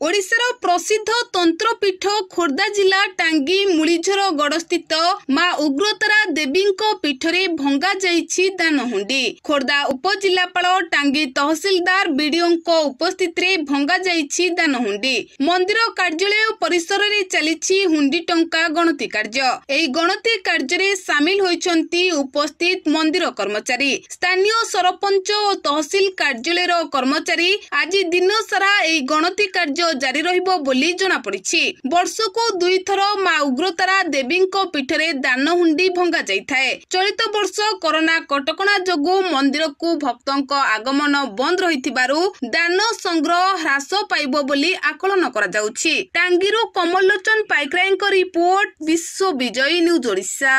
ଓଡ଼ିଶାର ପ୍ରସିଦ୍ଧ ତନ୍ତ୍ରପୀଠ ଖୋର୍ଦ୍ଧା ଜିଲ୍ଲା ଟାଙ୍ଗୀ ମୁଳିଝର ଗଡ଼ସ୍ଥିତ ମା ଉଗ୍ରତାରା ଦେବୀଙ୍କ ପୀଠରେ ଭଙ୍ଗାଯାଇଛି ଦାନହୁଣ୍ଡି। ଖୋର୍ଦ୍ଧା ଉପଜିଲ୍ଲାପାଳ, ଟାଙ୍ଗୀ ତହସିଲଦାର, ବିଡିଓଙ୍କ ଉପସ୍ଥିତିରେ ଭଙ୍ଗାଯାଇଛି ଦାନହୁଣ୍ଡି। ମନ୍ଦିର କାର୍ଯ୍ୟାଳୟ ପରିସରରେ ଚାଲିଛି ହୁଣ୍ଡି ଟଙ୍କା ଗଣତି କାର୍ଯ୍ୟ। ଏହି ଗଣତି କାର୍ଯ୍ୟରେ ସାମିଲ ହୋଇଛନ୍ତି ଉପସ୍ଥିତ ମନ୍ଦିର କର୍ମଚାରୀ, ସ୍ଥାନୀୟ ସରପଞ୍ଚ ଓ ତହସିଲ କାର୍ଯ୍ୟାଳୟର କର୍ମଚାରୀ। ଆଜି ଦିନସାରା ଏହି ଗଣତି କାର୍ଯ୍ୟ ଜାରି ରହିବ ବୋଲି ଜଣାପଡ଼ିଛି। ବର୍ଷକୁ ଦୁଇଥର ମା ଉଗ୍ରତାରା ଦେବୀଙ୍କ ପୀଠରେ ଦାନହୁଣ୍ଡି ଭଙ୍ଗା ଯାଇଥାଏ। ଚଳିତ ବର୍ଷ କରୋନା କଟକଣା ଯୋଗୁଁ ମନ୍ଦିରକୁ ଭକ୍ତଙ୍କ ଆଗମନ ବନ୍ଦ ରହିଥିବାରୁ ଦାନ ସଂଗ୍ରହ ହ୍ରାସ ପାଇବ ବୋଲି ଆକଳନ କରାଯାଉଛି। ଟାଙ୍ଗୀରୁ କମଲଲୋଚନ ପାଇକରାୟଙ୍କ ରିପୋର୍ଟ, ବିଶ୍ୱ ବିଜୟୀ ନ୍ୟୁଜ୍ ଓଡ଼ିଶା।